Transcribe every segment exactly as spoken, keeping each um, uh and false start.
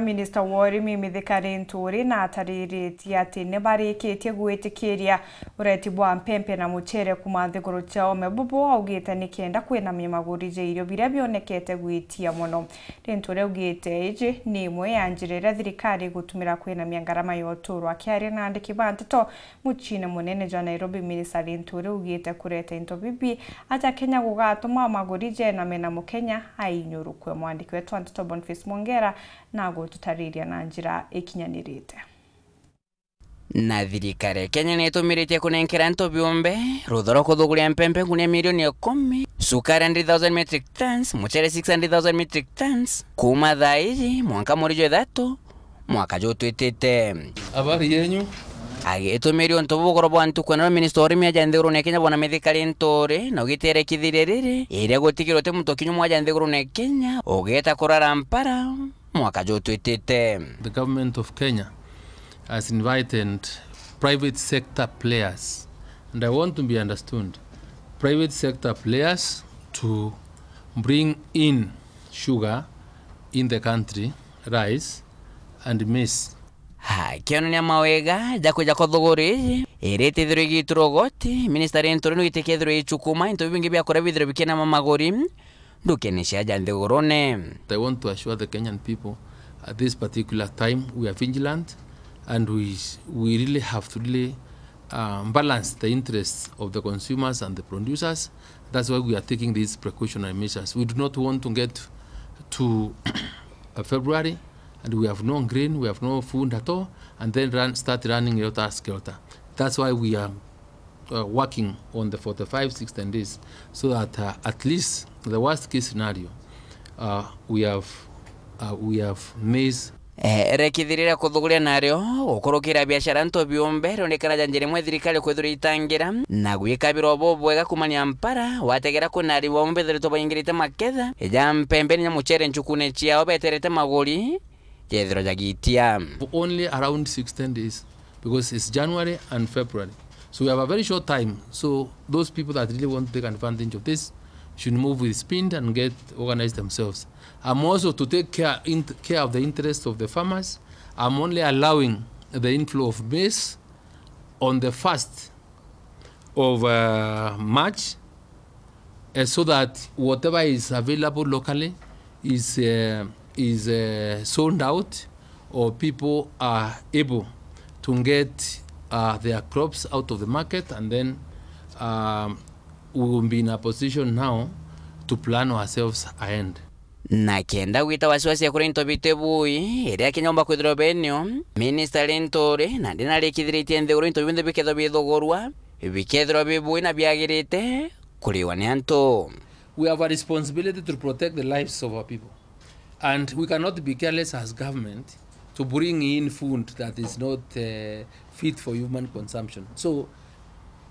Minista wa urimi Mithika Linturi na atariritie ati ni barikitie gwitikiria ureti bwa mpempe na mucere kuuma nthiguru cia ome bubu, augite ni kenda kwinamia maguri ja irio biria bionekete gwitia mono. Linturi augite iji ni imwe ya njira iria thirikari igutumira kwinamia ngarama ya uturo. Akiaria na andiki ba nteto muciine munene jwa Nairobi, Minista Linturi augite kureta into bibi aja Kenya gugatuma maguri jename na Mukenya ainyurukwe. Mwandiki wetu wa nteto Boniface Mwongera na gututariria na njira ikinyanirite. Na thirikari ya Kenya ni itumiritie kunenkera antu biumbe rutha rwa kuthuguria mpempe ngunia milioni ikumi, cukari hundred thousand metric tons, mucere six hundred thousand metric tons, kuuma thaa iji mwanka mweri jwa ithatu mwaka jutwitite. Habari yenyu? Agitumiria untu buu bugoro bwa ntuku ya naro, minista wa urimi aja nthigurune ya Kenya bwana Mithika Linturi na ugiterekithiria riri iria gutigirwe uti muntu kinya umwe aja nthigurune ya Kenya ugeta kurara mpara mwaka jutwitite. The government of Kenya has invited private sector players, and I want to be understood, private sector players to bring in sugar in the country, rice and maize. Akionania mawega ja kwija kwa thuguri iji iria itithirwe igiiturwa ugoti, minista Linturi nugite kethirwe icukuma into bibingi bia kuria bithirwe bikinama maguri ndukene cia aja nthigurune. I want to assure the Kenyan people, at this particular time we are vigilant and we, we really have to really, uh, balance the interests of the consumers and the producers. That's why we are taking these precautionary measures. We do not want to get to, uh, February and we have no grain, we have no food at all, and then run, start running helter skelter. That's why we are, uh, working on the forty-five, sixty days, so that, uh, at least the worst case scenario, uh, we have, uh, we have maize. Eh, rekithiriria kuthuguria nario gukurukira biashara nto biumbe rionekana ja njira imwe thirikari kwithirwa itangira na gwikabirwa bubwega kumania mpara wategera kwina arimi bamwe bethiritwe baingirite maketha ja mpembe na mucere ncukune ciao beterete maguri jethirwa jagitia. For only around sixty days, because it's January and February. So we have a very short time. So those people that really want to take advantage of this should move with speed and get organized themselves. I'm also to take care, in, care of the interests of the farmers. I'm only allowing the inflow of maize on the first of, uh, March, uh, so that whatever is available locally is, uh, is, uh, sold out, or people are able to get, uh, their crops out of the market, and then, um, we will be in a position now to plan ourselves ahead. Na kenda gwita wasiwasi ya kuria into biti bui, iria kinya umba kwithirwa benio, Minista Linturi nandi narikithiritie nthiguru into bionthe bikethirwa bithugurwa, bikethirwa bi bui na biagirite kuriwa ni antu. We have a responsibility to protect the lives of our people. And we cannot be careless as government to bring in food that is not, uh, fit for human consumption. So,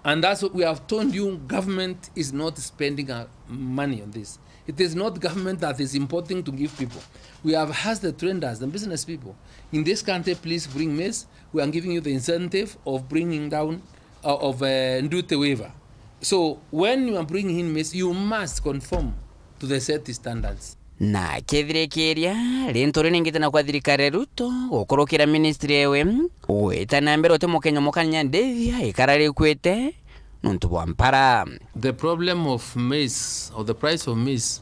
and that's what we have told you, government is not spending, uh, money on this. It is not government that is importing to give people. We have asked the traders, the business people in this country, please bring maize. We are giving you the incentive of bringing down, uh, of, uh, duty waiver. So when you are bringing in maize, you must conform to the set standards. Na kethirikiria, Linturi ningite na kwa thirikari ya Ruto gukurukira ministry ewe gwita na mbere uti mukenya mukanya ndithia ikara rikwite nontu bwa mpara. The problem of maize, or the price of maize,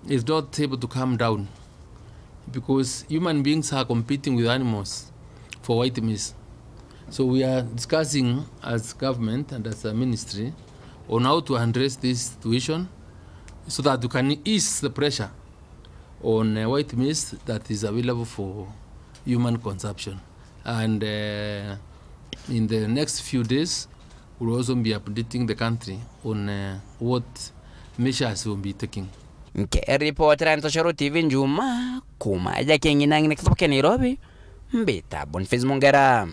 is not able to come down because human beings are competing with animals for white maize. So we are discussing as government and as a ministry on how to address this situation so that we can ease the pressure on, uh, white maize that is available for human consumption. And, uh, in the next few days, we'll also be updating the country on, uh, what measures we'll be taking. Nkiripotera Ntoshoro T V Njuma, kuma ja King'inang'ina, kitoboke Nairobi, mbita Boniface Mongera.